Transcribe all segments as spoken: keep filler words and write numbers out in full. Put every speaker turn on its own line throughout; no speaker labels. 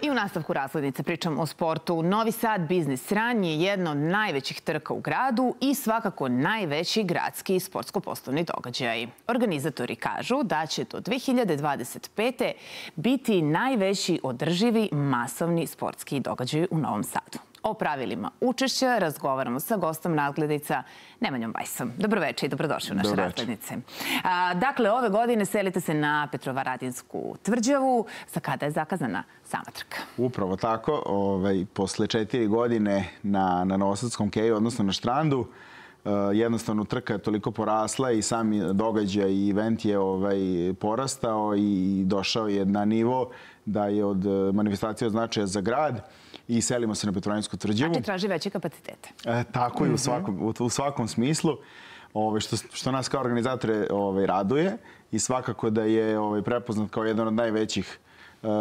I u nastavku Razglednice pričam o sportu. Novi Sad Biznis Run je jedno od najvećih trka u gradu i svakako najveći gradski sportsko-poslovni događaj. Organizatori kažu da će do dve hiljade dvadeset pete. biti najveći održivi masovni sportski događaj u Novom Sadu. O pravilima učešća razgovaramo sa gostom Razglednica Nemanjom Bajsom. Dobroveče i dobrodošli u naše Razglednice. Dakle, ove godine selite se na Petrovaradinsku tvrđavu. Za kada je zakazana sama trka?
Upravo tako. Posle četiri godine na Novosadskom keju, odnosno na Štrandu, jednostavno trka je toliko porasla i sami događaj i event je porastao i došao je na nivo da je od manifestacije od značaja za grad i selimo se na Petrovaradinsku tvrđavu.
Znači traži veće kapacitete.
Tako i u svakom smislu, što nas kao organizatore raduje i svakako da je prepoznat kao jedan od najvećih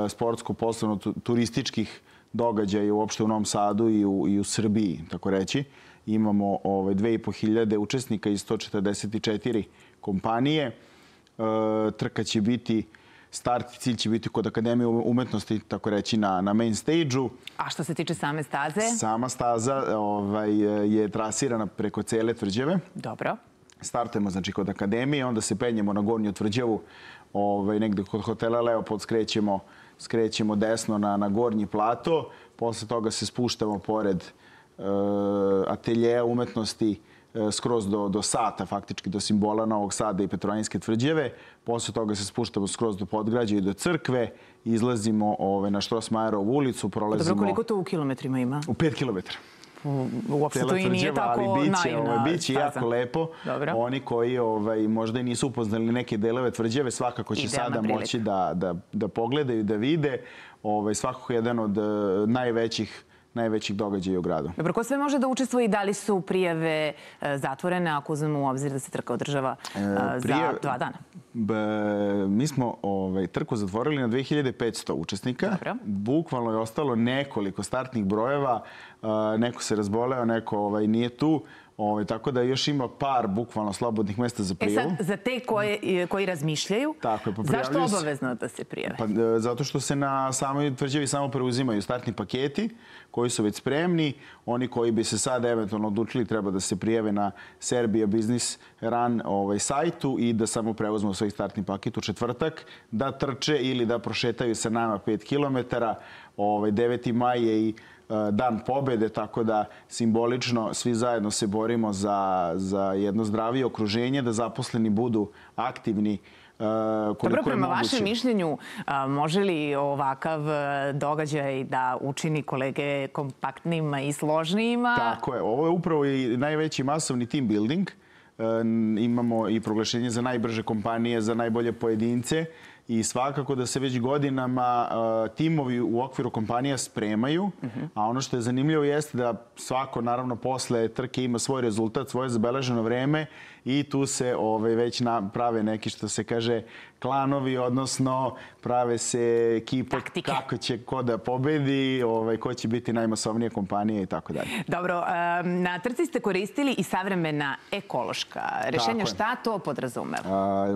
sportsko-poslovno-turističkih događaja uopšte u Novom Sadu i u Srbiji, tako reći. Imamo dve i po hiljade učesnika iz sto četrdeset četiri kompanije. Trka će biti, start i cilj će biti kod Akademije umetnosti, tako reći, na main stage-u.
A što se tiče same staze?
Sama staza je trasirana preko cele tvrđave.
Dobro.
Startujemo znači kod Akademije, onda se penjemo na Gornju tvrđavu, negde kod hotela Leopold skrećemo desno na Gornji plato. Posle toga se spuštamo pored ateljeja umetnosti skroz do Sata, faktički do simbola Novog Sada i Petrovaradinske tvrđave. Posle toga se spuštamo skroz do Podgrađa i do crkve. Izlazimo na Štrosmajerovu ulicu, prolazimo...
Dobro, koliko to u kilometrima ima?
U pet kilometara.
Uopšte to i nije tako naivna staza.
Biće jako lepo. Oni koji možda i nisu upoznali neke delove tvrđave, svakako će sada moći da pogledaju, da vide. Svakako jedan od najvećih najvećih događaja u gradu.
Dobro, ko sve može da učestvuje i da li su prijave zatvorene, ako uzmemo u obzir da se trka održava za dva dana?
Mi smo trku zatvorili na dve hiljade petsto učesnika. Bukvalno je ostalo nekoliko startnih brojeva. Neko se razboleo, neko nije tu. Tako da još ima par bukvalno slobodnih mesta za prijavu.
E sad, za te koji razmišljaju, zašto obavezno da se prijave?
Zato što se na samoj tvrđavi samo preuzimaju startni paketi koji su već spremni. Oni koji bi se sad eventualno odlučili treba da se prijave na Serbia Business Run sajtu i da samo preuzmu svoj startni paket u četvrtak, da trče ili da prošetaju sa nama pet kilometara. deveti maj je i Dan pobede, tako da simbolično svi zajedno se borimo za jedno zdravije okruženje, da zaposleni budu aktivni koliko je moguće.
Dobro, prema vašem mišljenju, može li ovakav događaj da učini kolege kompaktnijima i složnijima?
Tako je. Ovo je upravo i najveći masovni team building. Imamo i proglašenje za najbrže kompanije, za najbolje pojedince. I svakako da se već godinama timovi u okviru kompanija spremaju, a ono što je zanimljivo jeste da svako, naravno, posle trke ima svoj rezultat, svoje zabeleženo vreme i tu se već prave neki, što se kaže, klanovi, odnosno prave se ekipe kako će ko da pobedi, ko će biti najmasovnija kompanija i tako dalje.
Dobro, na trci ste koristili i savremena ekološka rešenja. Šta to podrazumeva?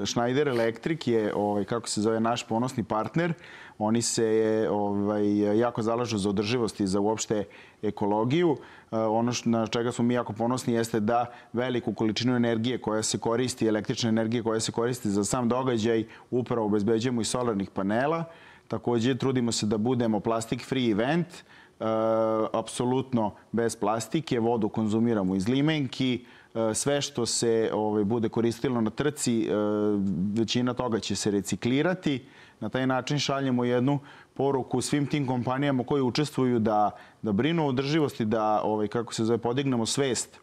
Schneider Electric je, kako se zove, naš ponosni partner. Oni se jako zalažu za održivost i za uopšte ekologiju. Ono na čega smo mi jako ponosni jeste da veliku količinu energije koja se koristi, električne energije koja se koristi za sam događaj, upravo obezbeđujemo iz solarnih panela. Također trudimo se da budemo plastic free event, apsolutno bez plastike, vodu konzumiramo iz limenki. Sve što se bude koristilo na trci, većina toga će se reciklirati. Na taj način šaljemo jednu poruku svim tim kompanijama koji učestvuju da brinu o održivosti, da, kako se zove, podignemo svest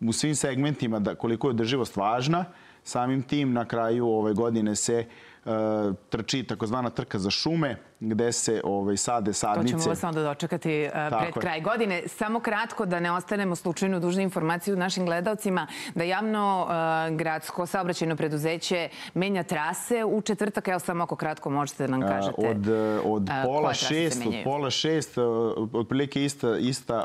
u svim segmentima koliko je održivost važna. Samim tim na kraju ove godine se trči takozvana trka za šume, gde se sade sadnice.
To ćemo vas onda dočekati pred kraj godine. Samo kratko, da ne ostanemo slučajno dužne informaciju našim gledalcima, da javno gradsko saobraćajno preduzeće menja trase u četvrtak. Evo samo ako kratko možete da nam kažete
od pola šest, od pola šest, otprilike ista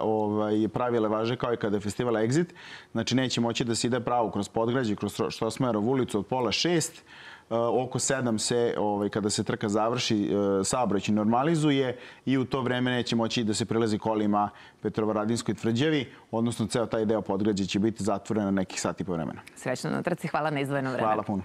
pravila važe kao i kada je festival Exit. Znači neće moći da se ide pravo kroz Podgrađe, kroz Štrosmajerovu ulicu od pola šest. oko sedam se, kada se trka završi, saobraćaj normalizuje i u to vreme neće moći da se prelazi kolima Petrovaradinskoj tvrđavi, odnosno ceo taj deo Podgrađa će biti zatvoren na nekih sat i po vremena.
Srećno na trci, hvala na izdvojeno vreme.
Hvala puno.